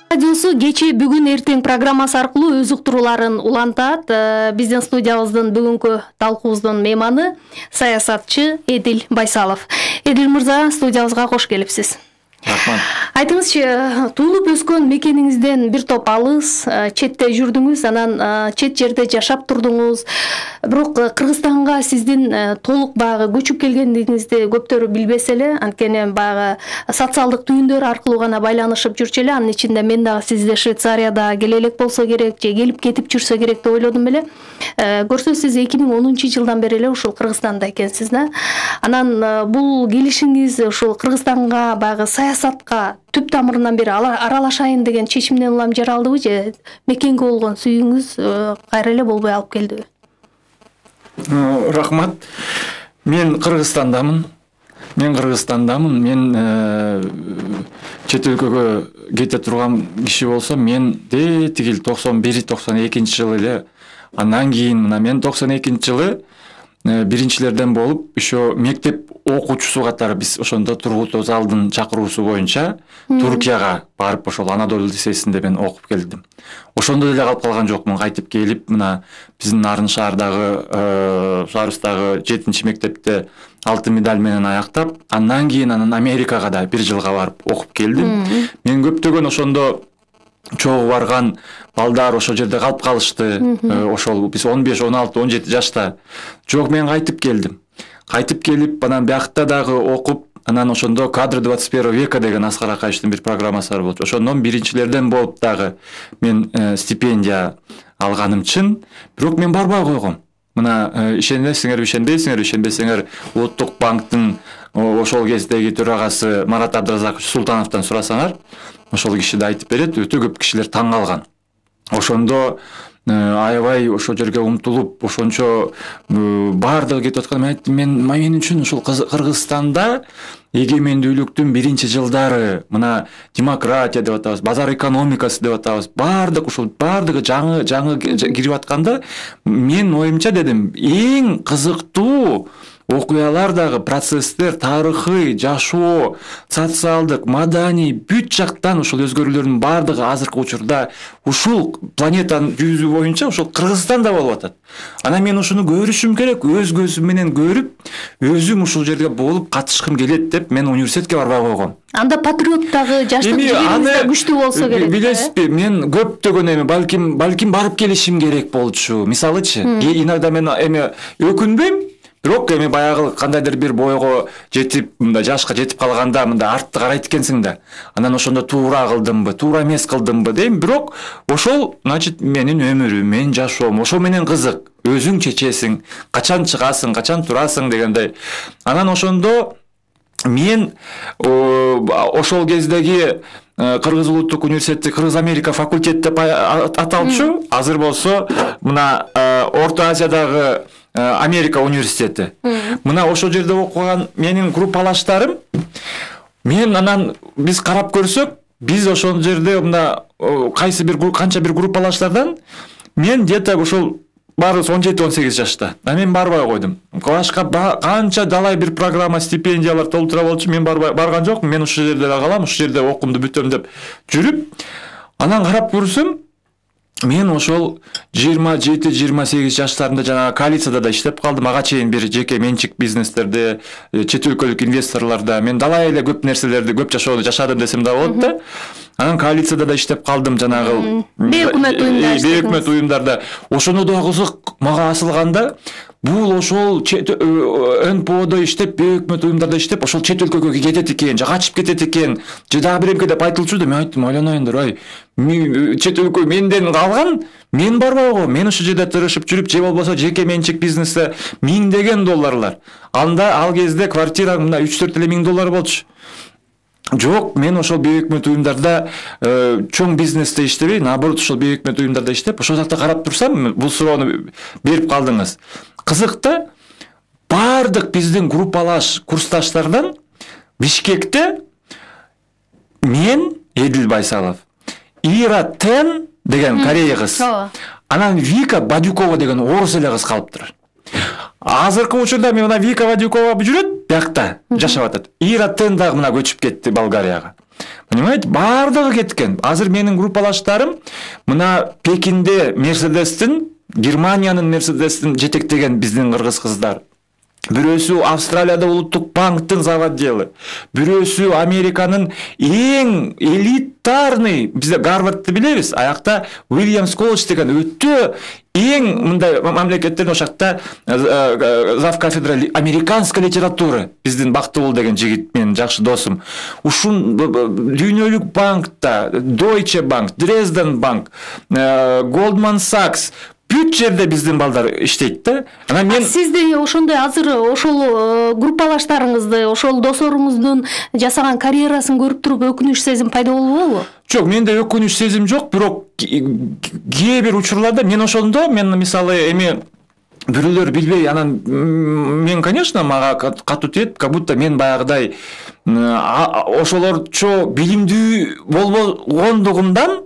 Радиосу кечээ бүгүн эртең программасы аркылуу өз уктурууларын улантат. Биздин студиябыздын бүгүнкү талкуубуздун мейманы саясатчы Эдил Байсалов. Эдил мырза, студиябызга кош келипсиз. Рахмат. Айтыңызчы, туулуп өскөн мекениңизден бир топ алыс, четте жүрдүңүз, анан чет жерде жашап турдуңуз. Бирок Кыргызстанга сиздин толук баягы көчүп келгендигиңизди көптөрү билбесе эле, анткени баягы социалдык түйүндөр аркылуу гана байланышып жүрчү эле. Анын ичинде мен дагы сизди Швейцарияда келе элек болсо керек, же келип кетип жүрсө керек деп ойлодум эле. Көрсө сиз 2010-жылдан бери эле ушул Кыргызстанда экенсиз да. Анан бул келишиңиз ушул Кыргызстанга баягы саясатка түп тамырынан бери аралашайын деген чечимден улам жаралдыбы, же мекенге болгон сүйүүңүз кайра эле болбой алып келдиби? Рахмат. Мен Кыргызстандамын. Мен чет өлкөгө кете турган киши болсом, мен тигил 91-92 эле. Андан кийин мына мен 92-жылы биринчилерден болуп, ошо мектеп окуучусу катары биз ошондо Тургут Озалдын чакыруусу боюнча Туркияга барып, ошол Анадолу лицейсинде мен окуп келдим. Ошондо деле калып калган жокмун, кайтып келип, мына биздин Нарын шаардагы, Шаарыбыздагы 7-мектепте алтын медаль менен аяктап, андан кийин Америкага да 1 жылга барып окуп келдим. Мен көптөгөн ошондо чогуу барган балдар ошол жерде калып калышты. Ошол биз 15, 16, 17 жашта. Жок, мен кайтып келдим. Кайтып келип, анан биякта дагы окуп, анан ошондо Кадры 21 века деген Аскар Акаевичтин бир программасы бар болчу. Ошондон биринчилерден болуп дагы мен стипендия алганым чын. Бирок мен барбай койгом. Мына ишенесиңерби, ишенбесеңер, Улуттук банктын ошол кездеги төрагасы Марат Абдыразакович Султановдон сурасаңар, ошол киши да айтып берет, өтө көп кишилер таң калган. Ошондо аябай ошол жерге умтулуп, ошончо баардыгы кетип аткан. Мен айттым, мен үчүн ушул Кыргызстанда эгемендүүлүктүн биринчи жылдары, мына демократия деп атабыз, базар экономикасы деп атабыз, баардыгы жаңы кирип атканда, мен оюмча дедим, эң кызыктуу окуялар дагы, процесстер, тарыхый, жашоо, социалдык, маданий бүт жактан ушул өзгөрүүлөрдүн баардыгы азыркы учурда ушул планетанын жүзү боюнча ушул Кыргызстанда болуп атат. Анан мен ушуну көрүшүм керек, өз көзүм менен көрүп, өзүм ушул жерге болуп катышкым келет деп мен университетке барбай койгом. Анда патриоттагы жаштык жигериңиз күчтүү болсо керек. Билесизби, мен көптөгөн балким барып келишим керек болчу. Мисалычы, иногда мен өкүнбөйм. Бирок баягы кандайдыр бир бойго жетип, мындай жашка жетип калганда мындай артты карайт экенсиң да. Анан ошондо туура кылдымбы, туура эмес кылдымбы дейм. Бирок ошол, значит, менин өмүрүм, менин жашоом, ошол менен кызык. Өзүң чечесиң, качан чыгасың, качан турасың дегендей. Анан ошондо мен ошол кездеги Кыргыз улуттук университети Кыргыз Америка факультет деп аталчу. Азыр болсо мына Орто Азиядагы Америка университети. Мына ошол жерде окуган менин группалаштарым, мен анан биз карап көрсөк, биз ошол жерде мына канча бир группалаштардан мен где-то ошол баарыбыз 17-18 жашта. Мен барбай койдум. Башка канча далай бир программа, стипендиялар толтура болчу, мен барган жокмун. Мен ушул жерде калам, ушул жерде окуумду бүтөм деп жүрүп, анан карап көрсөм, мен ошол 27-28 жаштарымда жана коалицияда да иштеп калдым. Ага чейин бир жеке менчик бизнестерде, чет өлкөлүк инвесторлордо мен далай эле көп нерселерди, көп жашоону жашадым десем да болот да. Анан коалицияда да иштеп калдым, жанагы бейөкмөт уюмдарда. Ошондо да кызык мага асылганда, бул ошол НПОдо иштеп, бейөкмөт уюмдарда иштеп, ошол чет өлкөгө кетет экен, же качып кетет экен, же дагы бир эмке деп айтылчу да. Мен айттым, ойлоноюндар, чет өлкө менден калган, мен барбай койгом. Мен ушул жерде тырышып жүрүп, же болбосо жеке менчик бизнесте $1000 долларлар. Анда ал кезде квартира мына 3-4 эле $1000 болчу. Жок, мен ошол бейөкмөт уюмдарда чоң бизнесте иштебей, наоборот ошол бейөкмөт уюмдарда иштеп, ошол жакта карап турсам, бул суроону берип калдыңыз. Кызык да, баардык биздин группалаш курсташтардан Бишкекте мен Эдил Байсалов, Ира Тен деген Корея кыз, анан Вика Бадюкова деген орус эле кыз калыптыр. Азыркы учурда мен мына Вика Бадюкова жүрөт, биякта жашап атат. Ира Тен дагы мына көчүп кетти Болгарияга. понимаете, баардыгы кеткен. Азыр менин группалаштарым мына Пекинде Мерседестин, Германиянын Мерседестин жетектеген биздин кыргыз кыздар. Бирөөсү Австралияда улуттук банктын заводделы, бирөөсү Американын эң элитарный, бизде Гарвардты билебиз, аякта Уильямс колледж деген өтө эң мындай мамлекеттердин ошакта зав кафедра американской литературы биздин Бактыбул деген жигит менин жакшы досум. Ушун дүйнөлүк банкта Deutsche Bank, Dresden Bank, Goldman Sachs бүт жерде биздин балдар иштейт да. Анан мен сизди ошондой азыр ошол группалаштарыңызды, ошол досоруңуздун жасаган карьерасын көрүп туруп өкүнүч сезим пайда болбойбу? Жок, менде өкүнүч сезим жок, бирок кээ бир учурларда мен ошондо мисалы эми бирөөлөр билбей анан мен, конечно, мага катуу тиет, как будто мен баягыдай ошолорчо билимдүү болбогондугумдан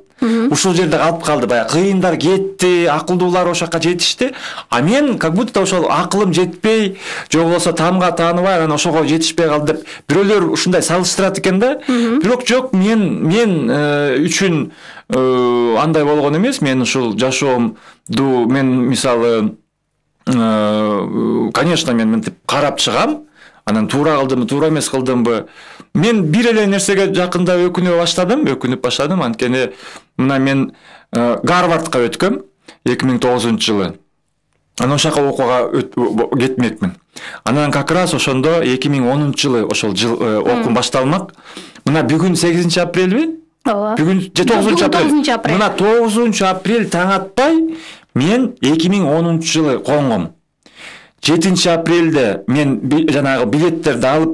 ушул жерде калып калды. Баягы кыйындар кетти, акылдуулар ошакка жетишти. А мен как будто ошол акылым жетпей, же болбосо таамга тааныбай, анан ошого жетишпей калды деп бирөөлөр ушундай салыштырат экен да. Бирок жок, мен үчүн андай болгон эмес. Мен ушул жашоомду мен мисалы конечно, мен мынтип карап чыгам. Анан туура кылдымбы, туура эмес кылдымбы? Мен бир эле нерсеге жакында өкүнүп баштадым. Анткени мына мен Гарвардка өткөм 2009-жылы. Анан ошака окууга кетмекмин. Анан как раз ошондо 2010-жылы ошол жыл окуум башталмак. Мына бүгүн 8-апрелби? Ооба. Бүгүн 9-апрель. Мына 9-апрель таң атпай мен 2010-жылы коңгом. 7-апрелде мен жанагы билеттерди алып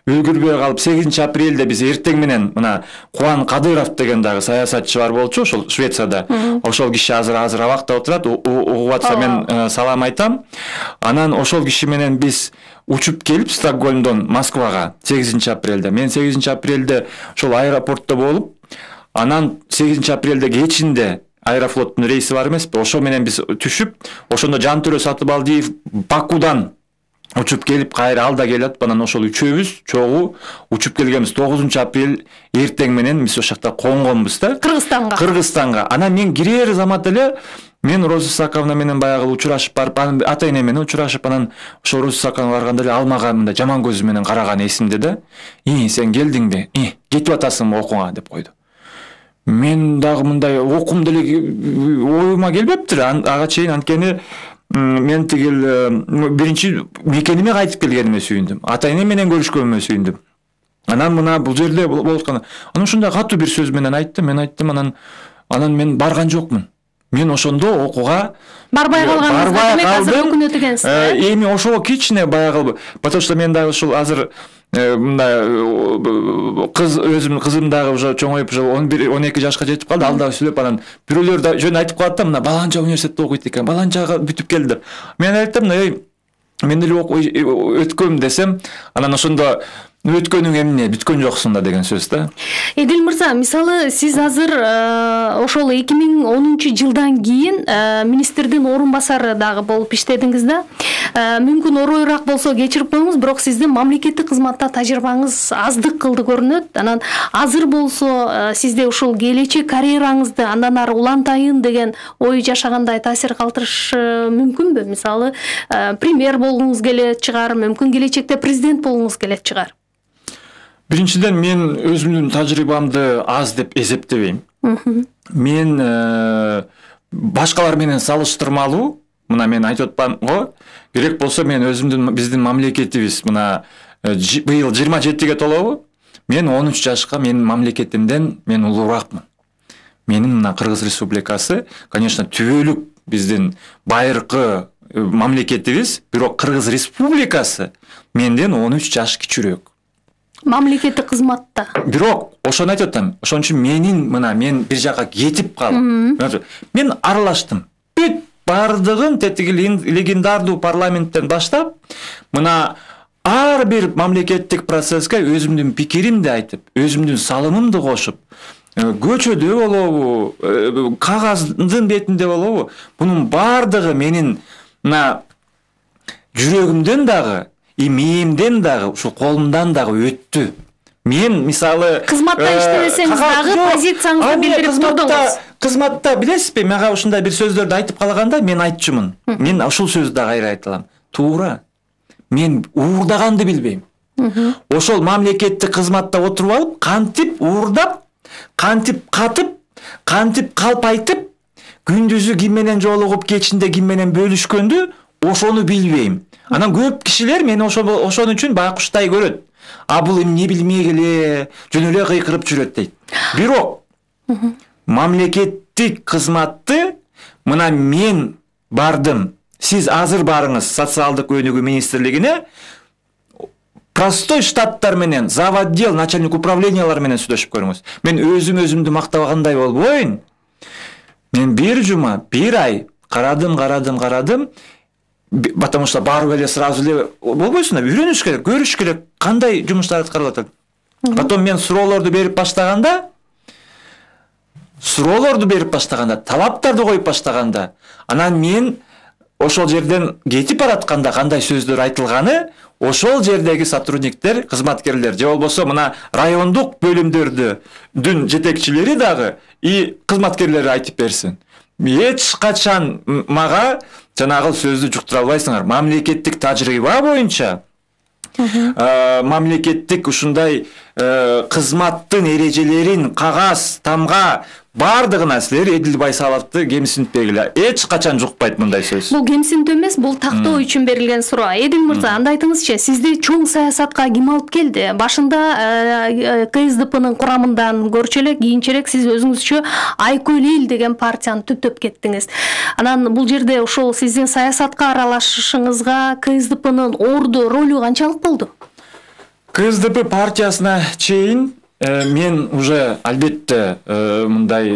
үлгүрбөй калып 8-апрелде биз эртең менен мына Кубан Кадыров деген дагы саясатчы бар болчу ошол Швецияда. Ошол киши азыр абакта отурат, угуп атса мен салам айтам. Анан ошол киши менен биз учуп келип Стокгольмдон Москвага 8-апрелде. Мен 8-апрелде ошол аэропортто болуп, анан 8-апрелде кечинде Аэрофлоттун рейси бар эмеспи? Ошо менен биз түшүп, ошондо Жантөрө Сатыбалдиев Бакудан учуп келип, кайра алда келип, анан ошол үчөөбүз чогуу учуп келгенбиз. 9-апрель эртең менен биз ошакта коңгонбуз да. Кыргызстанга. Анан мен кирер замат эле мен Роза Исаковна менен баягы учурашып барып, ата-эне менен учурашып, анан ошо Роза Исаковна барганда эле ал мага мындай жаман көзү менен караган эсимде да. Сен келдиңби? Кетип атасыңбы окууга деп койду. Мен дагы мындай окум деле оюма келбептир ага чейин, анткени мен тигил биринчи мекениме кайтып келгениме сүйүндүм. Ата-эне менен көрүшкөнүмө сүйүндүм. Анан мына бул жерде болуп аткан. Анан ушундай катуу бир сөз менен айттым. Мен айттым, анан мен барган жокмун. Мен ошондо окууга барбай калган өкүнөт экенсиз. Эми ошого кичине баягы, потому что мен дагы ушул азыр мындай кыз, өзүмдүн кызым дагы уже чоңоюп, уже 11-12 жашка жетип калды. Ал дагы сүйлөп, анан бирөөлөр да жөн айтып калат да, мына баланча университетте окуйт экен, баланчага бүтүп келди деп. Мен айттым, мен деле өткөм десем, анан ошондо өткөнүң эмне, бүткөн жоксуң да деген сөз да. Эдил мырза, мисалы сиз азыр ошол 2010-жылдан кийин министрдин орун басары дагы болуп иштедиңиз да. Мүмкүн оройраак болсо кечирип коюңуз, бирок сиздин мамлекеттик кызматта тажрыйбаңыз аздык кылды көрүнөт. Анан азыр болсо сизде ушул келечек карьераңызды андан ары улантайын деген ой жашагандай таасир калтырышы мүмкүнбү? Мисалы премьер болгуңуз келет чыгар, мүмкүн келечекте президент болгуңуз келет чыгар. Биринчиден, мен өзүмдүн тажрыйбамды аз деп эсептебейм. Мен башкалар менен салыштырмалуу, мына мен айтып атпам го, керек болсо мен өзүмдүн биздин мамлекетибиз мына быйыл 27-ге толобу? Мен 13 жашка менин мамлекетимден мен улууракмын. Менин мына Кыргыз Республикасы, конечно, түбөлүк биздин байыркы мамлекетибиз, бирок Кыргыз Республикасы менден 13 жаш кичүүрөөк. Мамлекеттик кызматта. Бирок ошону айтып атам. Ошон үчүн мен бир жака кетип калып, мен аралаштым. Бүт бардыгын тетиги легендардуу парламенттен баштап, мына ар бир мамлекеттик процесске өзүмдүн пикиримди айтып, өзүмдүн салымымды кошуп, көчөдө болобу, кагаздын бетинде болобу, бунун бардыгы менин мына жүрөгүмдөн дагы, мээмден дагы, ушул колумдан дагы өттү. Мен мисалы кызматта иштебесеңиз дагы позицияңызды билдирип турдуңуз. Кызматта билесизби, мага ушундай бир сөздөрдү айтып калганда мен айтчумун. Мен ушул сөздү дагы кайра айта алам. Туура. Мен уурдаганды билбейм. Ошол мамлекеттик кызматта отуруп алып, кантип уурдап, кантип катып, кантип калп айтып, күндүзү ким менен жолугуп, кечинде ким менен бөлүшкөндү, ошону билбейм. Анан көп кишилер мени ошон үчүн байкуштай көрөт. А бул эмне билмей эле, жөн эле кыйкырып жүрөт дейт. Бирок мамлекеттик кызматты мына мен бардым. Сиз азыр барыңыз социалдык өнүгүү министрлигине, простой штаттар менен, завотдел, начальник управлениялар менен сүйлөшүп көрүңүз. Мен өзүмдү мактабагандай болбойн. Мен бир жума, бир ай карадым. Потому что барып эле сразу эле болбойсуң да, үйрөнүш керек, көрүш керек, кандай жумуштар аткарылып атат. Потом мен суроолорду берип баштаганда, талаптарды коюп баштаганда, анан мен ошол жерден кетип баратканда кандай сөздөр айтылганы, ошол жердеги сотрудниктер, кызматкерлер, же болбосо мына райондук бөлүмдөрдүн жетекчилери дагы и кызматкерлери айтып берсин. Эч качан мага жанагы сөздү жуктура албайсыңар. Мамлекеттик тажрыйба боюнча мамлекеттик ушундай кызматтын эрежелерин кагаз, тамга бардыгына силер Эдил Байсаловду кемсинтпегиле. Эч качан жукпайт мындай сөз. Бул кемсинтүү эмес, бул тактоо үчүн берилген суроо. Эдил мырза, анда айтыңызчы, сизди чоң саясатка ким алып келди? Башында КСДПнын курамындан көрчү элек, кийинчерээк сиз өзүңүзчө Айкөл эл деген партияны түптөп кеттиңиз. Анан бул жерде ошол сиздин саясатка аралашышыңызга КСДПнын орду ролу канчалык болду? КСДП партиясына чейин мен уже албетте мындай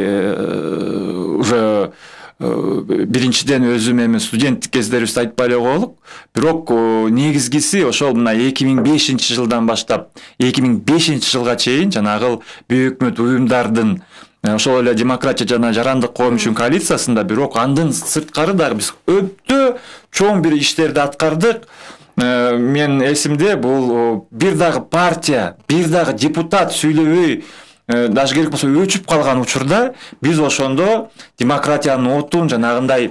уже биринчиден өзүм эми студенттик кездерибизде айтпай эле коелук. Бирок негизгиси ошол мына 2005-жылдан баштап 2005-жылга чейин жанагы büyük өкмөт уюмдардын ошол эле демократия жана жарандык коом үчүн коалициясында, бирок андын сырткары дагы биз өтө чоң бир иштерди аткардык. Мен эсимде, бул бир дагы партия, бир дагы депутат сүйлөбөй, даже керек болсо өчүп калган учурда биз ошондо демократиянын отун, жанагындай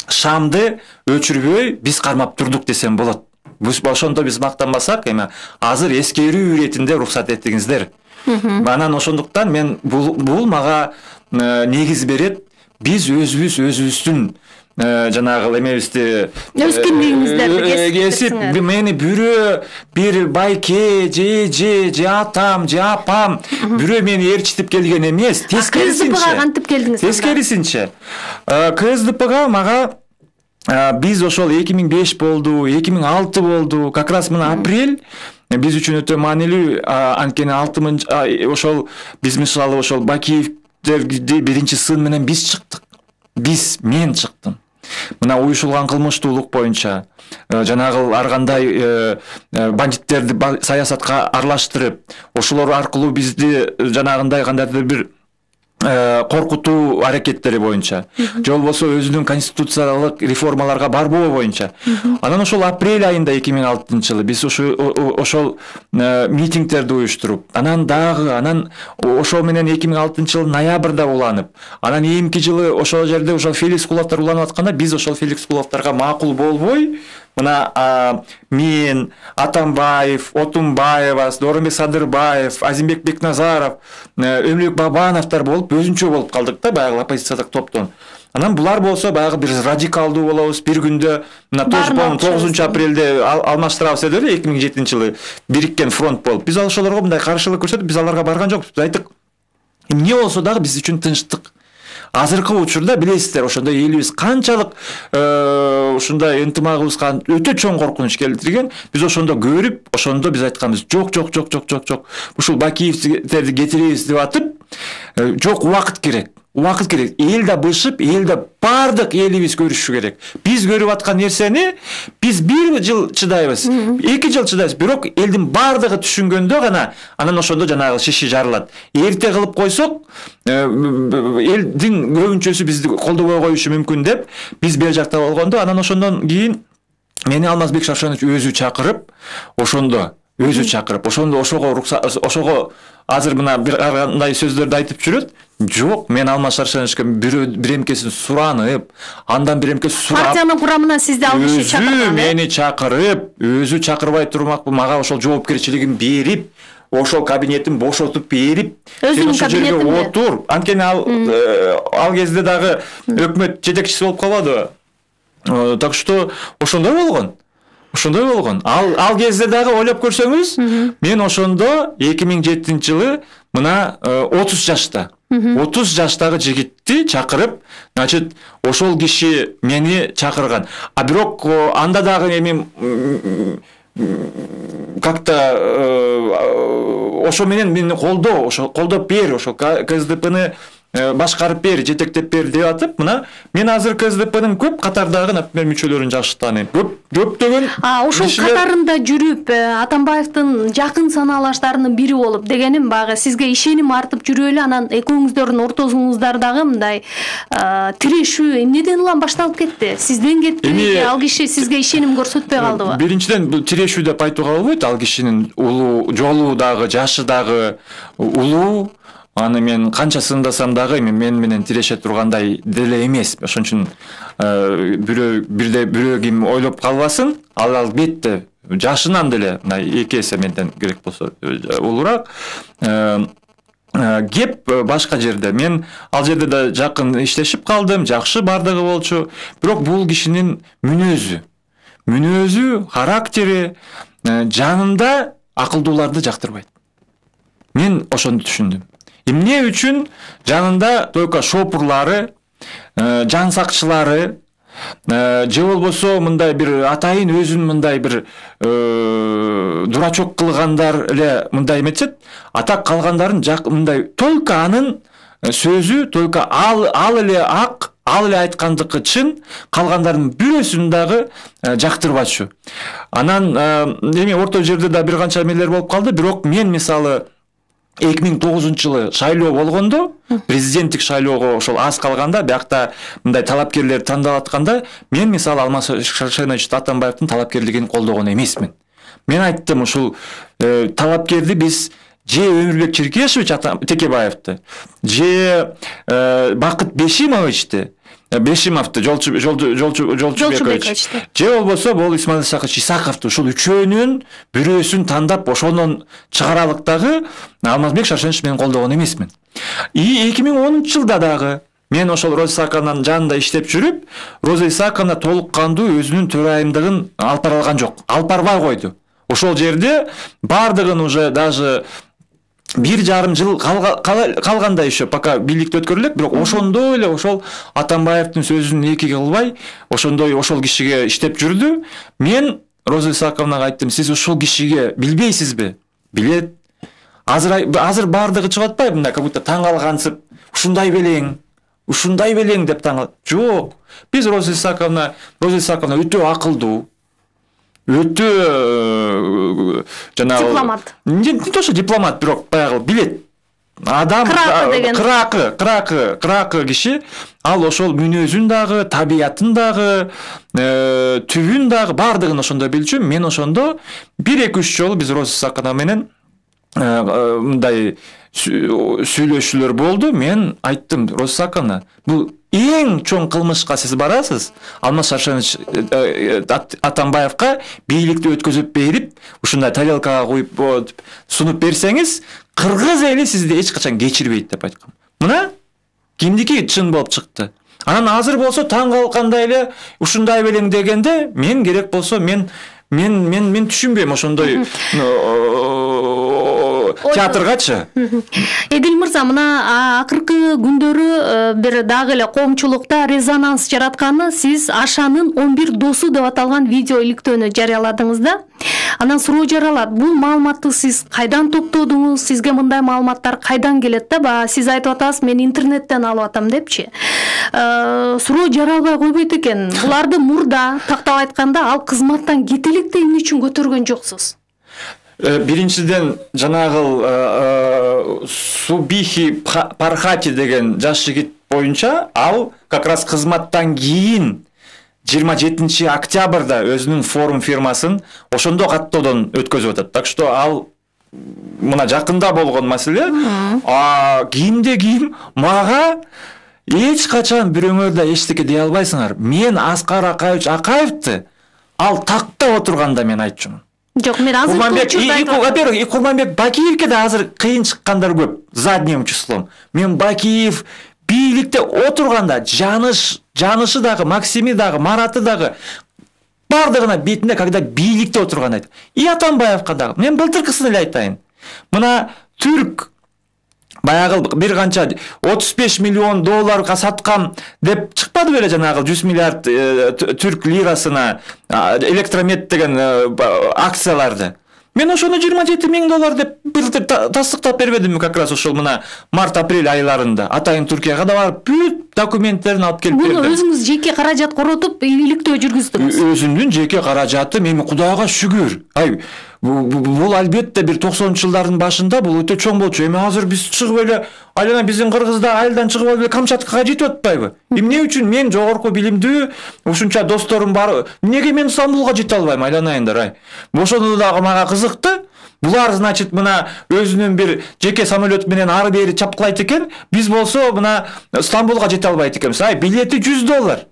шамды өчүрбөй биз кармап турдук десем болот. Ошондо биз мактанбасак, эми азыр эскерүү иретинде уруксат этиңиздер. Анан ошондуктан мен бул мага негиз берет. Биз өзүбүздүн жанагы эмебизди өз кимдигиңиздерди кесип, мени бир байке же атам же апам бирөө мени ээрчитип келген эмес. КСДПга кантип келдиңиз? Тескерисинче. КСДПга мага биз ошол 2005 болду, 2006 болду, как раз мына апрель биз үчүн өтө маанилүү. Анткени ошол биз мисалы ошол Бакиевдерди биринчи сын менен биз чыктык. Мен чыктым. Мына уюшулган кылмыштуулук боюнча жанагы ар кандай бандиттерди саясатка аралаштырып, ошолор аркылуу бизди жанагындай кандайдыр бир коркутуу аракеттери боюнча, же болбосо өзүнүн конституциялык реформаларга барбоо боюнча. Анан ошол апрель айында 2006-жылы биз ошол митингдерди уюштуруп, анан ошол менен 2006-жылы ноябрда уланып, анан эмки жылы ошол жерде ошол Феликс Куловдор уланып атканда биз ошол Феликс Куловдорго макул болбой, мына мен, Атамбаев, Отунбаева, Дооронбек Садырбаев, Азимбек Бекназаров, Өмүрбек Бабановдор болуп өзүнчө болуп калдык да, баягы оппозициядагы топтон. Анан булар болсо баягы бир радикалдуу болобуз, бир күндө мына 9-апрелде алмаштырабыз деп эле 2007-жылы бириккен фронт болуп. Биз ошолорго мындай каршылык көрсөтүп, биз аларга барган жокпуз. Биз айттык, эмне болсо дагы биз үчүн тынчтык. Азыркы учурда билесиздер, ошондой элибиз канчалык ушундай ынтымагыбызга өтө чоң коркунуч келтирген. Биз ошондо көрүп, ошондо биз айтканбыз, жок. Ушул Бакиевдерди кетиребиз деп атып, жок, убакыт керек. Эл да бышып, эл да бардык элибиз көрүшү керек. Биз көрүп аткан нерсени биз 1 жыл чыдайбыз, 2 жыл чыдайбыз, бирок элдин бардыгы түшүнгөндө гана анан ошондо жанагы шиши жарылат. Эрте кылып койсок, элдин көбүнчөсү бизди колдобой коюшу мүмкүн деп биз бер жакта болгондо, анан ошондон кийин мени Алмазбек Шаршенович өзү чакырып, ошондо өзү чакырып, ошого азыр мына бир кандай сөздөрдү айтып жүрөт. Жок, мен Алмаз Шаршеновичке биремкесин суранып, андан биремкесин сурап, партиянын курамына сизди ал киши чакырган. Мени чакырып, өзү чакырбай турмак, мага ошол жоопкерчилигин берип, ошол кабинетин бошотуп берип, өзүнүн кабинетинде отур. Анткени ал кезде дагы өкмөт жетекчиси болуп калбадыбы? Так что ошондой болгон. Ал кезде дагы ойлоп көрсөңүз, мен ошондо 2007-жылы мына 30 жашта. 30 жаштагы жигитти чакырып, значит, ошол киши мени чакырган. А бирок анда дагы эми как-то ошо менен мени колдоп бер, ошо КСДПны башкарып бер, жетектеп бер деп атып, мына мен азыр КСДПнын көп катардагы, например, мүчөлөрүн жакшы тааныйм. Көптөгөн ошол катарында жүрүп, Атамбаевдин жакын санаалаштарынын бири болуп, дегеним багы сизге ишеним артып жүрүп эле, анан экөөңүздөрдүн ортосуңуздардагы мындай тирешүү эмнеден улам башталып кетти? Сизден кетти, ал киши сизге ишеним көрсөтпөй калдыбы? Биринчиден, бул тирешүү деп айтууга болбойт. Ал кишинин жолу дагы, жашы дагы улуу. Аны мен канча сындасам дагы мен менен тиреше тургандай деле эмес. Ошон үчүн бирөө ким ойлоп калбасын. Ал албетте жашынан деле мына 2 эсе менден керек болсо улураак. Кеп башка жерде. Мен ал жерде да жакын иштешип калдым, жакшы бардыгы болчу. Бирок бул кишинин мүнөзү, характери жанында акылдууларды жактырбайт. Мен ошону түшүндүм. Эмне үчүн жанында только шопурлары, жан сакчылары, же болбосо мындай бир атайын өзүн мындай бир дурачок кылгандар эле мындай эметет, атак калгандарын мындай только анын сөзү, только ал эле ак, ал эле айткандыкы чын, калгандардын бирөөсүн дагы жактырбачу. Анан эми орто жерде да бир канча эмелер болуп калды, бирок мен мисалы 2009-жылы шайлоо болгондо, президенттик шайлоого ошол аз калганда, биякта мындай талапкерлер тандалып атканда, мен мисалы Алмаз Шаршенович Атамбаевдин талапкерлигин колдогон эмесмин. Мен айттым, ушул талапкерди биз же Өмүрбек Черкешевич Текебаевди, же Бакыт Бешимовду, Жолчубековичти, же болбосо бул Исмаил Исакович Исаковду, ушул үчөөнүн бирөөсүн тандап ошондон чыгаралык дагы Алмазбек Шаршенович менен колдогон эмесмин. 2010-жылда дагы мен ошол Роза Исаковнанын жанында иштеп жүрүп, Роза Исаковна толук кандуу өзүнүн төрайымдыгын алып бара алган жок. Алып барбай койду. Ошол жерде бардыгын уже даже 1,5 жыл калганда еще пока бийликти өткөрүлөт, бирок ошондой эле ошол Атамбаевдин сөзүн эки кылбай, ошондой ошол кишиге иштеп жүрдү. Мен Роза Исаковнага айттым, сиз ушул кишиге билбейсизби? Билет. Азыр бардыгы чыгып атпайбы, мындай как будто таң калгансып, ушундай белең деп таң. Жок. Биз Роза Исаковна өтө акылдуу, өтө жанагы дипломат. Не то что дипломат, бирок баягы билет. Адам кракы киши, ал ошол мүнөзүн дагы, табиятын дагы, түбүн дагы бардыгын ошондо билчү. Мен ошондо 1-2-3 жолу биз Роза Исаковна менен мындай сүйлөшүүлөр болду. Мен айттым, Роза Исаковна, бул эң чоң кылмышка сиз барасыз. Алмаз Шаршенович Атамбаевка бийликти өткөзүп берип, ушундай тарелкага коюп сунуп берсеңиз, кыргыз эли сизди эч качан кечирбейт деп айткам. Мына кимдики чын болуп чыкты. Анан азыр болсо таң калгандай эле ушундай белең дегенде, мен керек болсо мен түшүнбөйм ошондой театргачы. Эдил мырза, мына акыркы күндөрү бир дагы эле коомчулукта резонанс жаратканы сиз Ашанын 11 досу деп аталган видео иликтөөнү жарыяладыңыз да. Анан суроо жаралат. Бул маалыматты сиз кайдан топтодуңуз? Сизге мындай маалыматтар кайдан келет да? Баа сиз айтып атасыз, мен интернеттен алып атам депчи. Суроо жаралбай койбойт экен. Буларды мурда тактап айтканда ал кызматтан кетеликти эмне үчүн көтөргөн жоксуз? Биринчиден жанагыл Субихи Пархати деген жаш жигит боюнча ал как раз кызматтан кийин 27 октябрда өзүнүн форум фирмасын ошондо каттоодон өткөзүп атат. Так что ал мына жакында болгон маселе. Кийимде кийим мага эч качан бирөөңөр да эчтеке дей албайсыңар. Мен Аскар Акаевич Акаевди ал такта отурганда мен айтчумун. Жок, мен азыр во-первых, Курманбек Бакиевке да азыр кыйын чыккандар көп задним числом. Мен Бакиев бийликте отурганда жанышы дагы, Максими дагы, Мараты дагы бардыгына бетинде когда бийликте отурган айт. И Атамбаевка дагы. Мен былтыркысын эле айтайын. Мына түрк баягы бир канча 35 миллион долларга саткан деп чыкпады беле жанагы 100 миллиард түрк лирасына электромет деген акцияларды. Мен ошону 27 миң доллар деп былтыр тастыктап бербедимби как раз ошол мына март-апрель айларында. Атайын Түркияга да барып бүт документтерин алып келип бердим. Муну өзүңүз жеке каражат коротуп бийликтөө жүргүздүңүз. Өзүмдүн жеке каражатым, эми Кудайга шүгүр. Бул албетте бир 90-жылдардын башында бул өтө чоң болчу. Эми азыр биз чыгып эле айлана биздин Кыргызда айылдан чыгып эле Камчаткага жетип атпайбы? Эмне үчүн мен жогорку билимдүү ушунча досторум бар, эмнеге мен Стамбулга жете албайм айланайындар? Ошону дагы мага кызыкты. Булар, значит, мына өзүнүн бир жеке самолет менен ары бери чапкылайт экен. Биз болсо мына Стамбулга жете албайт экенбиз. Билети $100.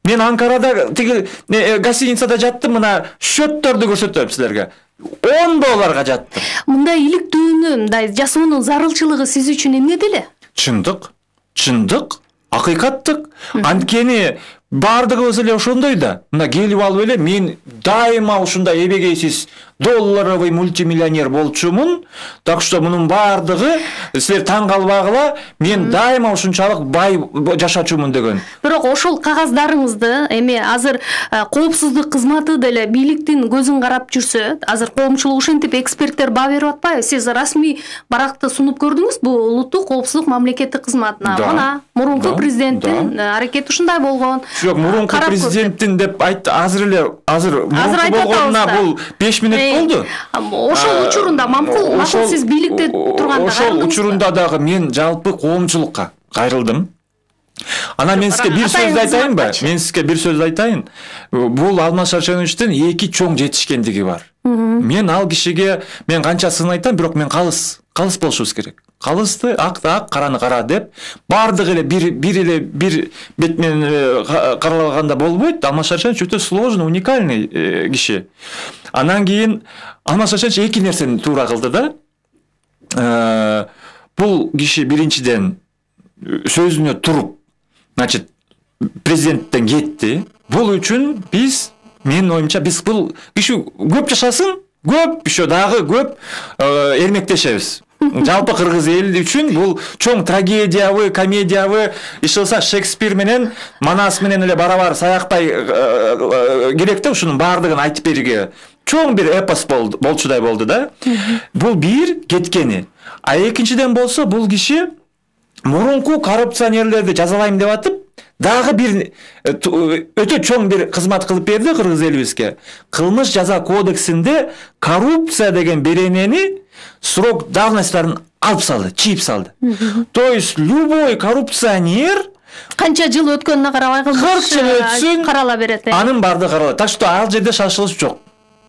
Мен Анкарада тиги гостиницада жаттым, мына счёттөрдү көрсөтөм силерге. $10 жаттым. Мындай иликтүүнү, мындай жасоонун зарылчылыгы сиз үчүн эмне деле? Чындык, акыйкаттык. Анткени бардыгыбыз эле ошондой да. Мына келип алып эле мен дайыма ушундай эбегейсиз долларовый мультимиллионер болчумун. Так что мунун бардыгы силер таң калбагыла, мен дайыма ушунчалык бай жашачумун деген. Бирок ошол кагаздарыңызды эми азыр коопсуздук кызматы деле бийликтин көзүн карап жүрсө, азыр коомчулук ушинтип эксперттер баа берип атпайбы? Сиз расмий баракты сунуп көрдүңүз бу улуттук коопсуздук мамлекеттик кызматына. Мына мурунку президенттин аракети ушундай болгон. Жок, мурунку президенттин деп айтты. Азыр мурунку болгонуна бул 5 минут болду. Ошол учурунда макул сиз бийликте турганда ошол учурунда дагы мен жалпы коомчулукка кайрылдым. Анан мен сизге бир сөз айтайынбы? Бул Алмаз Шаршеновичтин эки чоң жетишкендиги бар. Мен ал кишиге мен канчасын айтам, бирок мен калыс болушубуз керек. Калысты акты ак, караны кара деп бардыгы эле бир бет менен каралганда болбойт. Алмаз Шаршенович өтө сложный, уникальный киши. Анан кийин Алмаз Шаршенович эки нерсени туура кылды да. Бул киши биринчиден сөзүнө туруп, значит, президенттен кетти. Бул үчүн менин оюмча бул киши көп жашасын, көп еще дагы көп эрмектешебиз. Жалпы кыргыз эли үчүн бул чоң трагедиябы, комедиябы, ишылса Шекспир менен Манас менен эле барабар саяктай керек да ушунун бардыгын айтып берүүгө. Чоң бир эпос болчудай болду да. Бул бир кеткени. Экинчиден болсо бул киши мурунку коррупционерлерди жазалайм деп атып, дагы бир өтө чоң бир кызмат кылып берди кыргыз элибизге. Кылмыш жаза кодексинде коррупция деген беренени срок давностьтарын алып салды, чийип салды. То есть любой коррупционер канча жыл өткөнүнө карабай 40 жыл өтсүн, карала берет. Анын бардыгы каралат. Так что ал жерде шашылыш жок.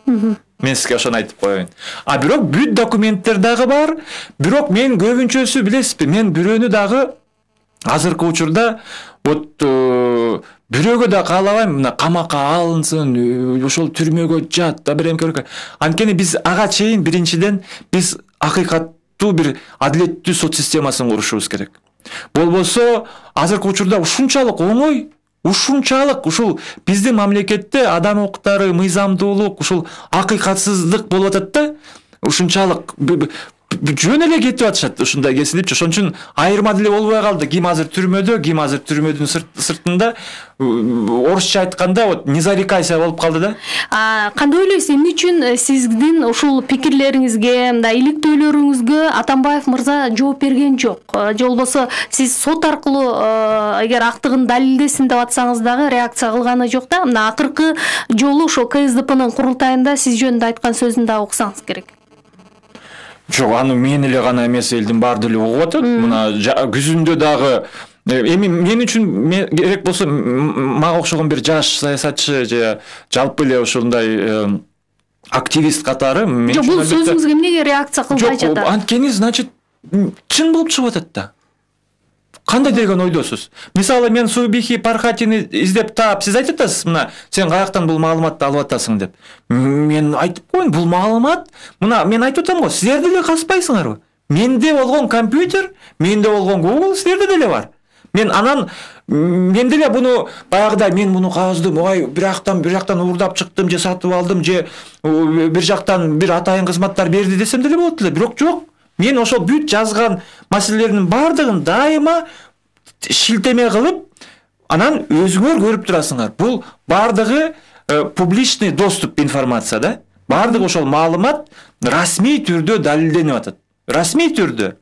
Мен сизге ошону айтып коеюн. Бирок бүт документтер дагы бар. Бирок мен көбүнчөсү билесизби, мен бирөөнү дагы азыркы учурда бирөөгө да каалабайм, мына камакка алынсын, ошол түрмөгө жат да бир эмке. Анткени биз ага чейин биринчиден биз акыйкаттуу бир адилеттүү сот системасын курушубуз керек. Болбосо азыркы учурда ушунчалык оңой, ушул биздин мамлекетте адам укуктары, мыйзамдуулук, ушул акыйкатсыздык болуп атат да. Ушунчалык жөн эле кетип атышат ушундай кесилипчи. Ошон үчүн айырма деле болбой калды. Ким азыр түрмөдө, ким азыр түрмөдүн сыртында. Орусча айтканда не зарекайся болуп калды да. Кандай ойлойсуз, эмне үчүн сиздин ушул пикирлериңизге, мындай иликтөөлөрүңүзгө Атамбаев мырза жооп берген жок? Же болбосо сиз сот аркылуу эгер актыгын далилдесин деп атсаңыз дагы реакция кылганы жок да. Мына акыркы жолу ошо КСДПнын курултайында сиз жөнүндө айткан сөзүн дагы уксаңыз керек. Жок, аны мен эле гана эмес, элдин баары деле угуп атат. Мына күзүндө дагы Эми мен үчүн керек болсо мага окшогон бир жаш саясатчы же жалпы эле ошондой активист катары жок, бул сөзүңүзгө эмнеге реакция кылбай жатат? Жок, анткени значит чын болуп чыгып атат да. Кандай деген ойдосуз? Мисалы мен Субихи Пархатини издеп таап, сиз айтып атасыз, мына сен каяктан бул маалыматты алып атасың деп. Мен айтып коеюн, бул маалымат, мына мен айтып атам го, силер деле казбайсыңарбы? Менде болгон компьютер, менде болгон Google силерде деле бар. Мен деле буну баягыдай мен буну каздым, ой, бир жактан уурдап чыктым же сатып алдым же бир жактан бир атайын кызматтар берди десем деле болот эле. Бирок жок. Мен ошол бүт жазган маселелердин бардыгын дайыма шилтеме кылып, анан өзүңөр көрүп турасыңар. Бул бардыгы публичный доступ информация да. Бардыгы ошол маалымат расмий түрдө далилденип атат. Расмий түрдө.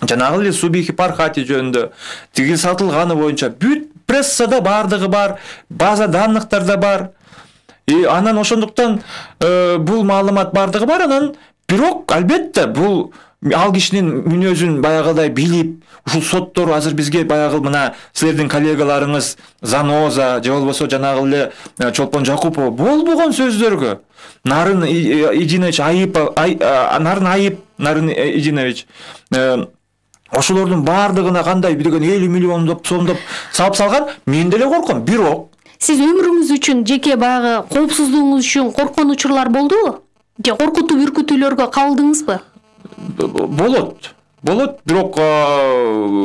Жанагы эле Субихи Пархати жөнүндө тиги сатылганы боюнча бүт прессада бардыгы бар, база данныктарда бар. Анан ошондуктан бул маалымат бардыгы бар, анан бирок албетте бул ал кишинин мүнөзүн баягыдай билип, ушул соттор азыр бизге баягы мына силердин коллегаларыңыз Заноза же болбосо жанагы эле Чолпон Жакупова болбогон сөздөргө Нарын Идинович ошолордун бардыгына кандай деген 50 миллион сомдоп салып салган, мен деле корком. Бирок сиз өмүрүңүз үчүн, жеке баягы коопсуздугуңуз үчүн корккон учурлар болдубу? Же коркутуу үркүтүүлөргө кабылдыңызбы? Болот, бирок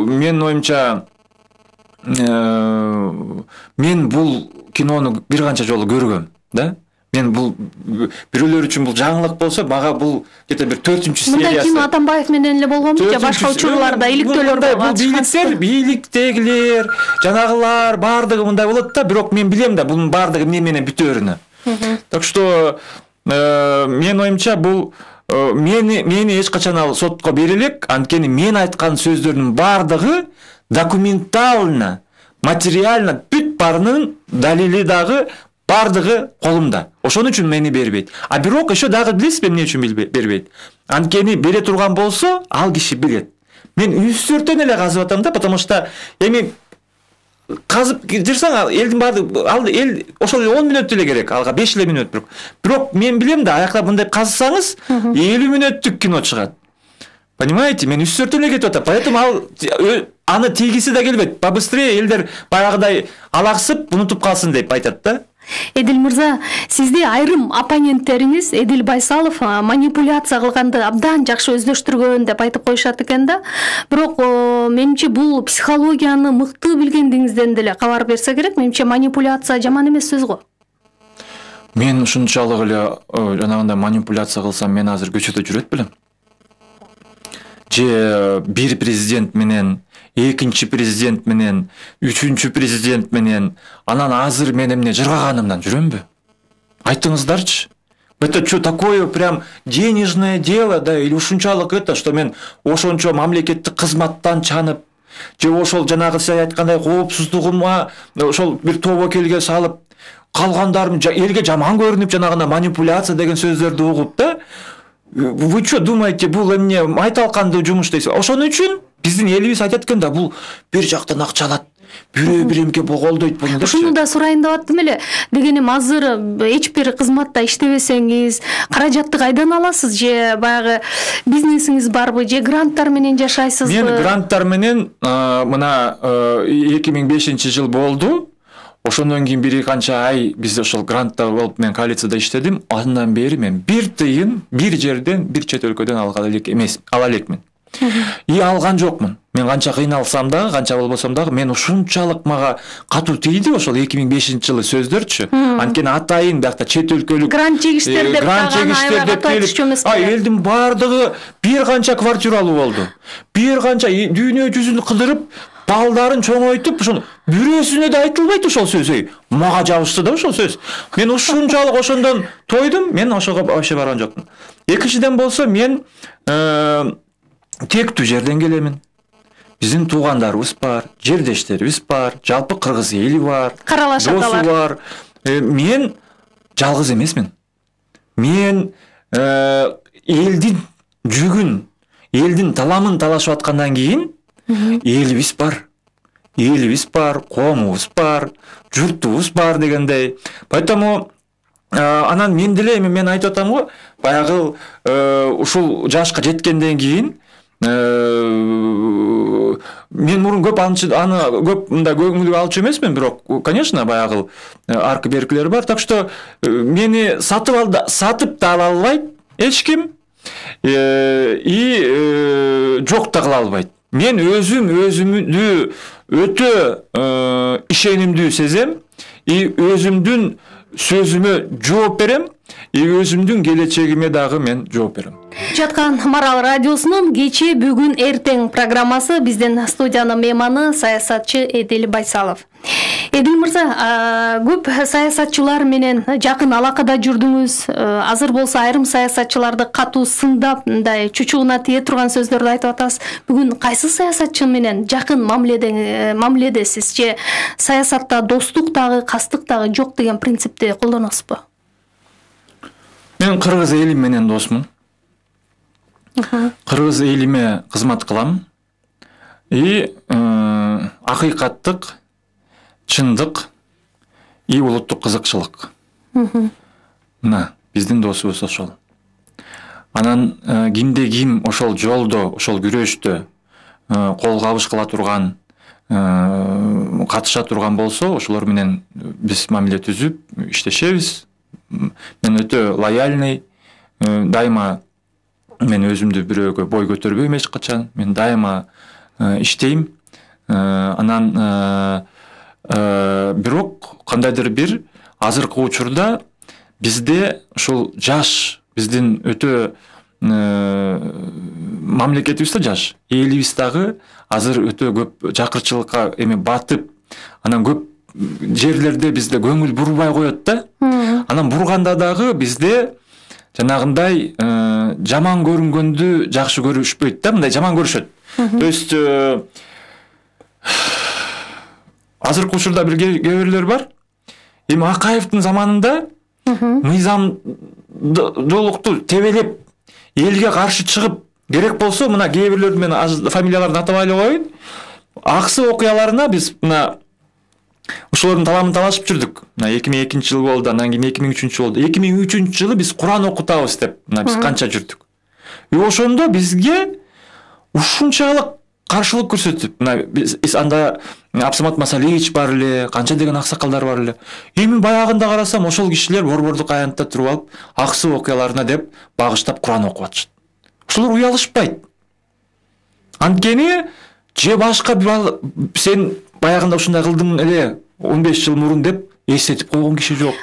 мен оюмча мен бул кинону бир канча жолу көргөм, да? Мен бул бирөөлөр үчүн бул жаңылык болсо, мага бул где-то бир 4-сериясы. Мындай кино Атамбаев менен эле болгонбу же башка учурларда иликтөөлөрдө бар? Бийликтегилер, жанагылар бардыгы мындай болот да, бирок мен билем да бунун бардыгы эмне менен бүтөөрүнү. Так что мен оюмча бул мени эч качан ал сотко бере элек, анткени мен айткан сөздөрдүн бардыгы документально, материально бүт барынын далили дагы бардыгы колумда. Ошон үчүн мени бербейт. А бирок еще дагы билесизби эмне үчүн бербейт? Анткени бере турган болсо, ал киши билет. Мен үстөртөн эле казып атам да, потому что эми казып жүрсөң элдин баардыгы, ал эл ошол 10 мүнөт эле керек, алга 5 эле мүнөт бирок. Бирок мен билем да, аякта мындай казсаңыз 50 мүнөттүк кино чыгат. Понимаете? Мен үстөртөн эле кетип атам. Поэтому аны тийгиси да келбейт. Побыстрее элдер баягыдай алаксып, унутуп калсын деп айтат да. Эдил мырза, сизди айрым оппоненттериңиз Эдил Байсалов манипуляция кылганды абдан жакшы өздөштүргөн деп айтып коюшат экен да. Бирок менимче бул психологияны мыкты билгендигиңизден деле кабар берсе керек. Менимче манипуляция жаман эмес сөз го. Мен ушунчалык эле жанагындай манипуляция кылсам, мен азыр көчөдө жүрөт белем. Же бир президент менен, экинчи президент менен, үчүнчү президент менен, анан азыр мен эмне жыргаганымдан жүрөмбү? Айтыңыздарчы. Это что такое прям денежное дело, да, или ушунчалык это, что мен ошончо мамлекеттик кызматтан чанып, же ошол жанагы сиз айткандай коопсуздугума ошол бир тобокелге салып, калгандарым элге жаман көрүнүп жанагына манипуляция деген сөздөрдү угуп да. Вы что думаете, бул эмне майталкандуу жумуш дейсиз? Ошон үчүн биздин элибиз айтат экен да, бул бир жактан акча алат, бирөө биремге боголдойт буну. Ушуну да сурайын деп аттым эле. Дегеним азыр эч бир кызматта иштебесеңиз, каражатты кайдан аласыз? Же баягы бизнесиңиз барбы, же гранттар менен жашайсызбы? Мен гранттар менен мына 2005-жыл болду. Ошондон кийин бир канча ай биз ошол грантта болуп мен коалицияда иштедим. Андан бери мен бир тыйын бир жерден, бир чет өлкөдөн ала элекмин. И алган жокмун. Мен канча кыйналсам дагы, канча болбосом дагы, мен ушунчалык мага катуу тийди ошол 2005-жылы сөздөрчү. Анткени атайын биякта чет өлкөлүк грант жегиштер деп келип, элдин бардыгы бир канча квартиралуу болду. Бир канча дүйнө жүзүн кыдырып, балдарын чоңойтуп, ошону бирөөсүнө да айтылбайт ошол сөз. Мага жабышты да ошол сөз. Мен ушунчалык ошондон тойдум, мен ошого вообще барган жокмун. Экинчиден болсо, мен тектүү жерден келемин. Биздин туугандарыбыз бар, жердештерибиз бар, жалпы кыргыз эли бар, каралашаталар бар. Мен жалгыз эмесмин. Мен элдин жүгүн, элдин таламын талашып аткандан кийин элибиз бар. элибиз бар, коомубуз бар, журтубуз бар дегендей. Поэтому анан мен деле эми мен айтып атам го, баягы ушул жашка жеткенден кийин мен мурун көп аны көп мындай көңүлгө алчу эмесмин, бирок конечно баягы аркы беркилер бар. Так что мени сатып да ала албайт эч ким, и жок да кыла албайт. Мен өзүмдү өтө ишенимдүү сезем, и өзүмдүн сөзүмө жооп берем, и өзүмдүн келечегиме дагы мен жооп берем. Жаткан Марал радиосунун кечээ бүгүн эртең программасы, биздин студиянын мейманы саясатчы Эдил Байсалов. Эдил мырза, көп саясатчылар менен жакын алакада жүрдүңүз. Азыр болсо айрым саясатчыларды катуу сындап, мындай чучугуна тие турган сөздөрдү айтып атасыз. Бүгүн кайсы саясатчы менен жакын мамиледесиз же саясатта достук дагы, кастык дагы жок деген принципти колдоносузбу? Мен кыргыз эли менен досмун. Кыргыз элиме кызмат кылам. И акыйкаттык, чындык, и улуттук кызыкчылык. Мына биздин досубуз ошол. Анан кимде ким ошол жолдо, ошол күрөштө кол кабыш кыла турган, катыша турган болсо, ошолор менен биз мамиле түзүп иштешебиз. Мен өтө лояльный, дайыма мен өзүмдү бирөөгө бой көтөрбөйм эч качан. Мен дайыма иштейм. Анан бирок кандайдыр бир азыркы учурда бизде ушул жаш, биздин өтө мамлекетибиз да жаш, элибиз дагы азыр өтө көп жакырчылыкка батып, анан көп жерлерде бизде көңүл бурбай коет да. Анан бурганда дагы бизде жанагындай жаман көрүнгөндү жакшы көрүшпөйт да, мындай жаман көрүшөт. То есть азыркы учурда бир кээ-бирлер бар. Эми Акаевдин заманында мыйзамдуулукту тебелеп, элге каршы чыгып, керек болсо мына кээ-бирлердин мен фамилияларын атабай эле коеюн. Аксы окуяларына биз мына ошолордун таламын талашып жүрдүк. Мына 2002-жыл болду, анан кийин 2003-жыл болду. 2003-жылы биз Куран окутабыз деп, мына биз канча жүрдүк. И ошондо бизге ушунчалык каршылык көрсөтүп, мына биз анда Абсамат Масалевич бар эле, канча деген аксакалдар бар эле. Эми баягында карасам ошол кишилер борбордук аянтта туруп алып, аксы окуяларына деп багыштап Куран окуп атышат. Ошолор уялышпайт. Анткени же башка сен баягында ушундай кылдың эле 15 жыл мурун деп эстетип койгон киши жок.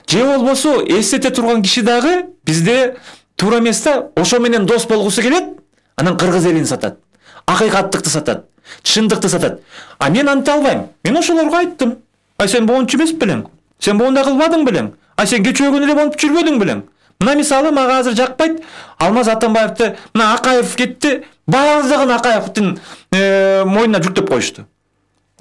Же болбосо эстете турган киши дагы бизде туура эмес да, ошо менен дос болгусу келет, анан кыргыз элин сатат, акыйкаттыкты сатат, чындыкты сатат. А мен анте албайм. Мен ошолорго айттым. Ай сен боончу эмес белең? Сен боондай кылбадың белең? Ай сен кечөөгүн эле болуп жүрбөдүң белең? Мына мисалы мага азыр жакпайт. Алмаз Атамбаевди, мына Акаев кетти, баардыгын Акаевдин мойнуна жүктөп коюшту.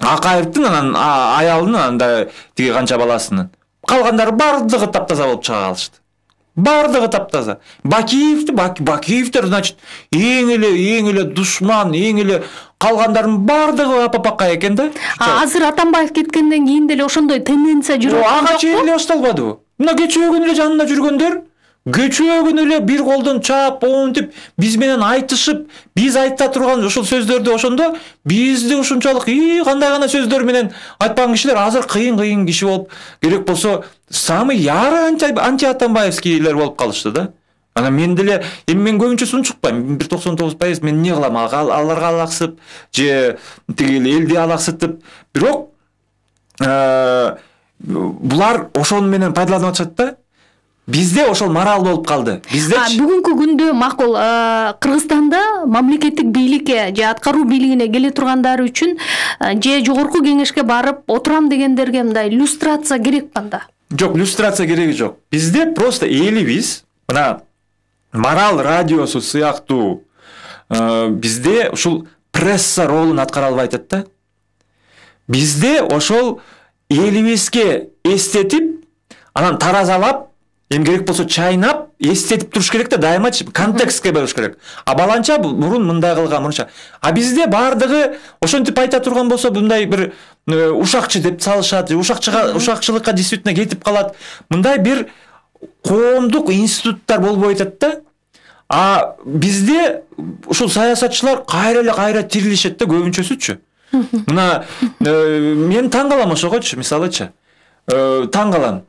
Акаевдин анан аялынын анда тиги канча баласынын. Калгандары баардыгы таптаза болуп чыга калышты. Баардыгы таптаза. Бакиевдер, значит, эң эле душман, эң эле калгандардын баардыгы апапакка экен да. Азыр Атамбаев кеткенден кийин деле ошондой тенденция жүрүп атат. Ага чейин эле башталбадыбы? Мына кечөөгүн эле жанында жүргөндөр, кечөөгүн эле бир колдон чаап, оонтип, биз менен айтышып, биз айта турган ошол сөздөрдү ошондо бизди ушунчалык кандай гана сөздөр менен айтпаган кишилер азыр кыйын киши болуп, керек болсо самый ярый анти-атамбаевскийлер болуп калышты да. Анан мен деле эми мен көбүнчө сунчукпайм. 99% мен эмне кылам? Аларга алаксып, же тиги элди алаксытып, бирок булар ошол менен пайдаланып атышат да. Бизде ошол морал болуп калды. Биздечи бүгүнкү күндө макул Кыргызстанда мамлекеттик бийликке же аткаруу бийлигине келе тургандар үчүн же жогорку кеңешке барып отурам дегендерге мындай иллюстрация керек канда? Жок, иллюстрация кереги жок. Бизде просто элибиз, мына Марал радиосу сыяктуу бизде ушул пресса ролун аткара албай атат да. Бизде ошол элибизге эстетип, анан таразалап, эми керек болсо чайнап, эстетип туруш керек да, дайымачы контекстке барыш керек. А баланча мурун мындай кылган, мурунча. А бизде бардыгы ошентип айта турган болсо мындай бир ушакчы деп салышат, ушакчылыкка действительно кетип калат. Мындай бир коомдук институттар болбой атат да. А бизде ушул саясатчылар кайра тирилишет да, көбүнчөсүчү. Мына мен таң калам ошогочу, мисалычы. Таң калам.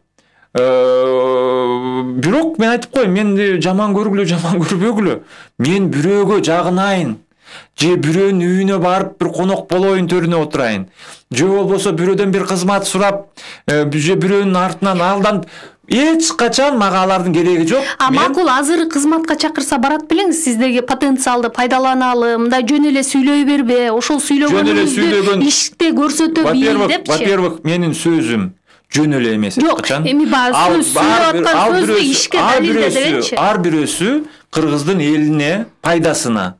Бирок мен айтып коеюн, мен жаман көрбөгүлө. Мен бирөөгө жагынайын, же бирөөнүн үйүнө барып бир конок болоюн, төрүнө отурайын. Же болбосо бирөөдөн бир кызмат сурап, же бирөөнүн артынан алданып, эч качан мага алардын кереги жок. Макул, азыр кызматка чакырса барат белеңиз, сиздеги потенциалды пайдаланалы, мындай жөн эле сүйлөй бербе, ошол сүйлөгөнүңүздү иште көрсөтө бил депчи. Во-первых, менин сөзүм жөн эле эмес эч качан. Эми сөз сүйлөп аткан сөздү ишке далилде дегенчи. Ар бирөөсү кыргыздын элине пайдасына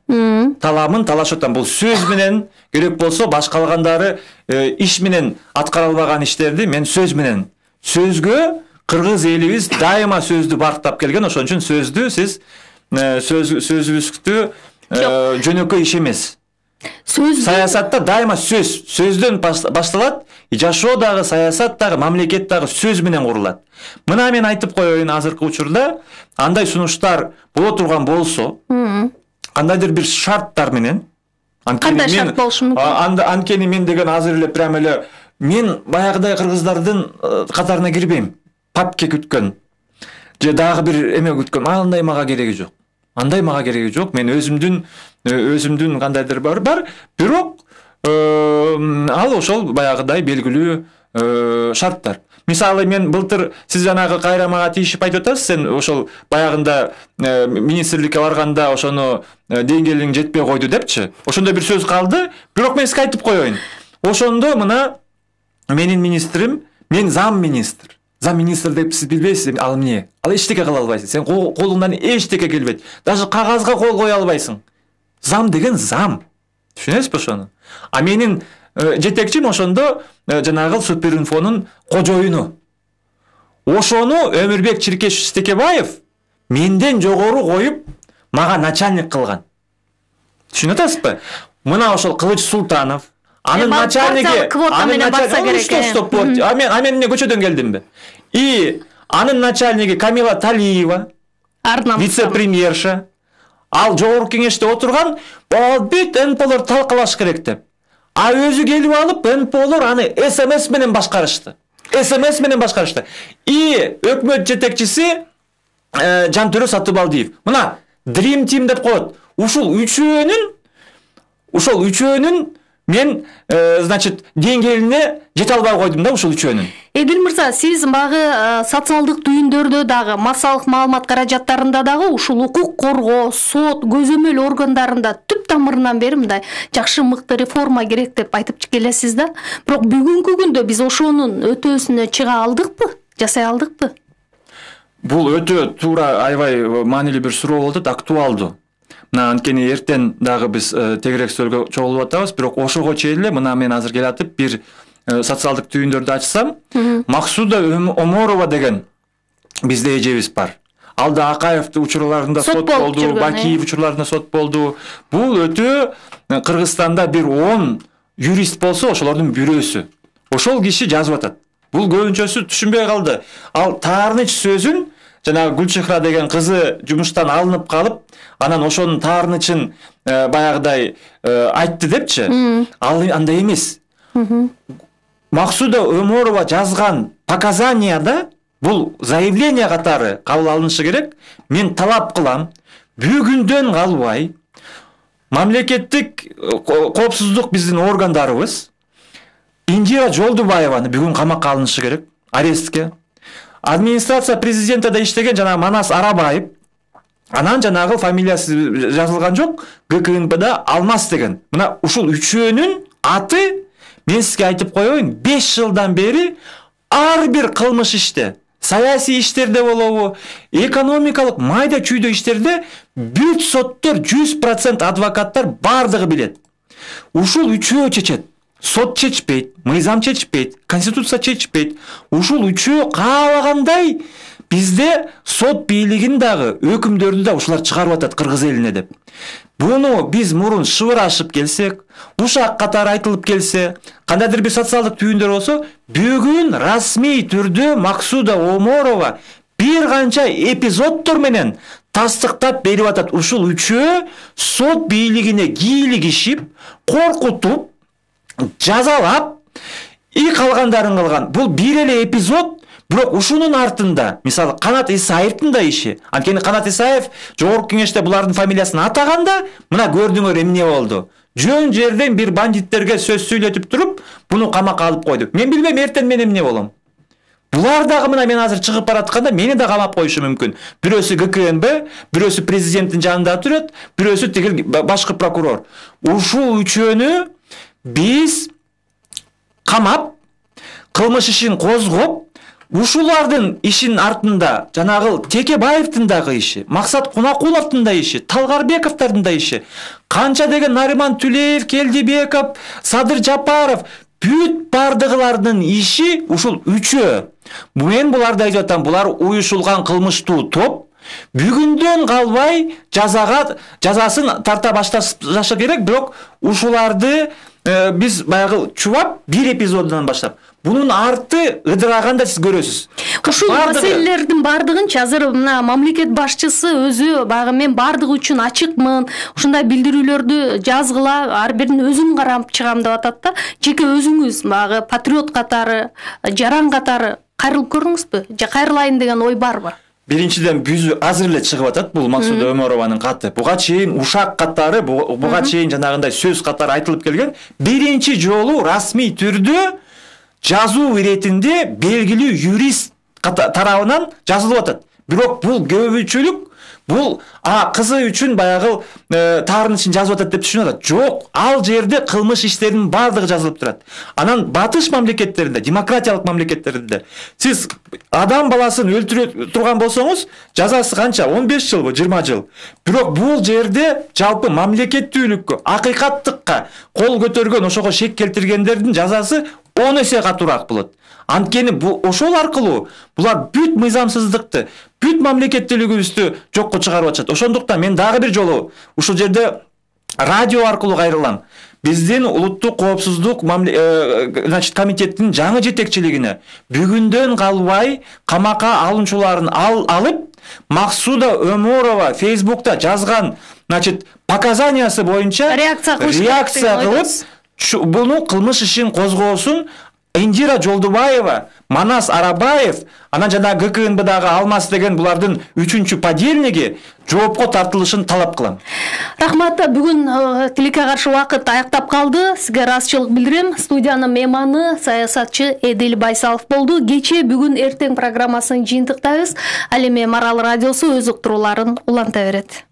таламын талашып атам. Бул сөз менен, керек болсо башкалгандары иш менен аткара албаган иштерди мен сөз менен. Сөзгө кыргыз элибиз дайыма сөздү барктап келген, ошон үчүн сөздү сиз сөзүбүздү жөнөкөй иш эмес. Саясатта дайыма сөздөн башталат. Жашоо дагы, саясат дагы, мамлекет дагы сөз менен курулат. Мына мен айтып коеюн, азыркы учурда андай сунуштар боло турган болсо, кандайдыр бир шарттар менен, кандай шарт болушу мүмкүн? Анткени мен деген азыр эле прям эле мен баягыдай кыргыздардын катарына кирбейм. Папке күткөн же дагы бир эме күткөн, андай мага кереги жок. Андай мага кереги жок. Мен өзүмдүн кандайдыр бар, бирок ал ошол баягыдай белгилүү шарттар. Мисалы мен былтыр сиз жанагы кайра мага тийишип айтып атасыз, сен ошол баягында министрликке барганда ошону деңгээлиң жетпей койду депчи. Ошондо бир сөз калды, бирок мен сизге айтып коеюн. Ошондо мына менин министрим, мен замминистр. Замминистр деп сиз билбейсиз, ал эмне? Ал эчтеке кыла албайсың. Сен колуңдан эчтеке келбейт. Даже кагазга кол кое албайсың. Зам деген зам. Түшүнөсүзбү ошону? А менин жетекчим ошондо жанагы Суперинфонун кожоюну. Ошону Өмүрбек Чиркешевич Стекебаев менден жогору коюп, мага начальник кылган. Түшүнүп атасызбы? Мына ошол Кылыч Султанов, анын начальниги, квота менен барса керек. А мен эмне көчөдөн келдимби? И анын начальниги Камила Талиева, вице-премьерша, ал жогорку кеңеште отурган, бүт НПОлор талкалаш керек деп. А өзү келип алып, НПОлор аны СМС менен башкарышты. И өкмөт жетекчиси Жантөрө Сатыбалдиев. Мына Dream Team деп коет. Ушул үчөөнүн мен, значит, деңгээлине жете албай койдум да ушул үчөөнүн. Эдил мырза, сиз багы социалдык түйүндөрдө дагы, массалык маалымат каражаттарында дагы ушул укук коргоо, сот, көзөмөл органдарында түп тамырынан бери мындай жакшы мыкты реформа керек деп айтып келесиз да. Бирок бүгүнкү күндө биз ошонун өтөөсүнө чыга алдыкпы? Жасай алдыкпы? Бул өтө туура, аябай маанилүү бир суроо болуп атат, актуалдуу. Мына анткени эртең дагы биз тегерек сөзгө чогулуп атабыз, бирок ошого чейин эле мына мен азыр келатып бир социалдык түйүндөрдү ачсам, Максуда Оморова деген бизде эжебиз бар. Ал да Акаев учурларында сот болду, Бакиев учурларында сот болду. Бул өтө Кыргызстанда бир 10 юрист болсо, ошолордун бирөөсү. Ошол киши жазып атат. Бул көбүнчөсү түшүнбөй калды. Ал Таарыныч сөзүн жанагы Гүлчехра деген кызы жумуштан алынып калып, анан ошонун Таарынычын баягыдай айтты депчи. Ал андай эмес. Максуда Өмөрова жазган показанияда бул заявление катары кабыл алынышы керек. Мен талап кылам, бүгүндөн калбай мамлекеттик коопсуздук биздин органдарыбыз Индира Жолдубаеваны бүгүн камакка алынышы керек, арестке. Администрация президентада иштеген жана Манас Арабаев, анан жанагы фамилиясы жазылган жок, ГКНБда Алмаз деген. Мына ушул үчөөнүн аты мен сизге айтып коеюн, 5 жылдан бери ар бир кылмыш иште, саясий иштерде болобу, экономикалык майда чүйдө иштерде бүт соттор 100% адвокаттар бардыгы билет. Ушул үчөө чечет. Сот чечпейт, мыйзам чечпейт, конституция чечпейт. Ушул үчөө каалагандай бизде сот бийлигин дагы өкүмдөрдү да ушулар чыгарып атат кыргыз элине деп. Буну биз мурун шыбырашып келсек, ушак катары айтылып келсе, кандайдыр бир социалдык түйүндөр болсо, бүгүн расмий түрдө Максуда Оморова бир канча эпизоддор менен тастыктап берип атат. Ушул үчөө сот бийлигине кийлигишип, коркутуп, жазалап, калгандарын кылган. Бул бир эле эпизод. Бирок ушунун артында, мисалы, Канат Исаевдин да иши. Анткени Канат Исаев жогорку кеңеште булардын фамилиясын атаганда, мына көрдүңөр эмне болду. Жөн жерден бир бандиттерге сөз сүйлөтүп туруп, буну камакка алып койду. Мен билбейм эртең мен эмне болом. Булар дагы мына мен азыр чыгып баратканда мени да камап коюшу мүмкүн. Бирөөсү ГКМБ, бирөөсү президенттин жанында турат, бирөөсү тигил башкы прокурор. Ушул үчөөнү биз камап, кылмыш ишин козгоп, ушулардын ишин артында жанагы Текебаевдин дагы иши, Максат Кунакуловдун да иши, Талгарбековдун да иши, канча деген Нариман Түлеев, Келдибеков, Садыр Жапаров, бүт бардыгылардын иши ушул үчөө. Мен буларды айтып атам, булар уюшулган кылмыштуу топ. Бүгүндөн калбай жазасын тарта башташы керек, бирок ушуларды биз баягы чубап бир эпизодунан баштап. Бунун арты ыдыраганда сиз көрөсүз. Ушул маселелердин бардыгынчы азыр мына мамлекет башчысы өзү баягы мен бардыгы үчүн ачыкмын, ушундай билдирүүлөрдү жазгыла, ар бирин өзүм карап чыгам деп атат да. Жеке өзүңүз баягы патриот катары, жаран катары кайрылып көрдүңүзбү? Же кайрылайын деген ой барбы? Биринчиден бүзү азыр эле чыгып атат бул Максуда Оморованын каты. Буга чейин ушак катары, буга чейин жанагындай сөз катары айтылып келген. Биринчи жолу расмий түрдө жазуу иретинде белгилүү юрист тарабынан жазылып атат. Бирок бул көбүчүлүк, бул кызы үчүн баягы таарынышын жазып атат деп түшүнүп атат. Жок, ал жерде кылмыш иштеринин бардыгы жазылып турат. Анан батыш мамлекеттеринде, демократиялык мамлекеттеринде сиз адам баласын өлтүрө турган болсоңуз, жазасы канча? 15 жылбы, 20 жыл. Бирок бул жерде жалпы мамлекеттүүлүккө, акыйкаттыкка кол көтөргөн, ошого шек келтиргендердин жазасы 10 эсе катуураак болот. Анткени ошол аркылуу булар бүт мыйзамсыздыкты, бүт мамлекеттүүлүгүбүздү жокко чыгарып атышат. Ошондуктан мен дагы бир жолу ушул жерде радио аркылуу кайрылам. Биздин улуттук коопсуздук комитеттин жаңы жетекчилигине бүгүндөн калбай камакка алынчуларын алып, Максуда Оморова Фейсбукта жазган, показаниясы боюнча реакция кылып, буну кылмыш ишин козгоосун Индира Жолдубаева, Манас Арабаев, анан жана ГКНБдагы Алмаз деген булардын 3-чү подельниги жоопко тартылышын талап кылам. Рахмат, бүгүн тилекке каршы убакыт аяктап калды. Сизге ыраазычылык билдирем. Студиянын мейманы саясатчы Эдил Байсалов болду. Кечээ, бүгүн, эртең программасын жыйынтыктайбыз. Ал эми Марал радиосу өз уктурууларын уланта берет.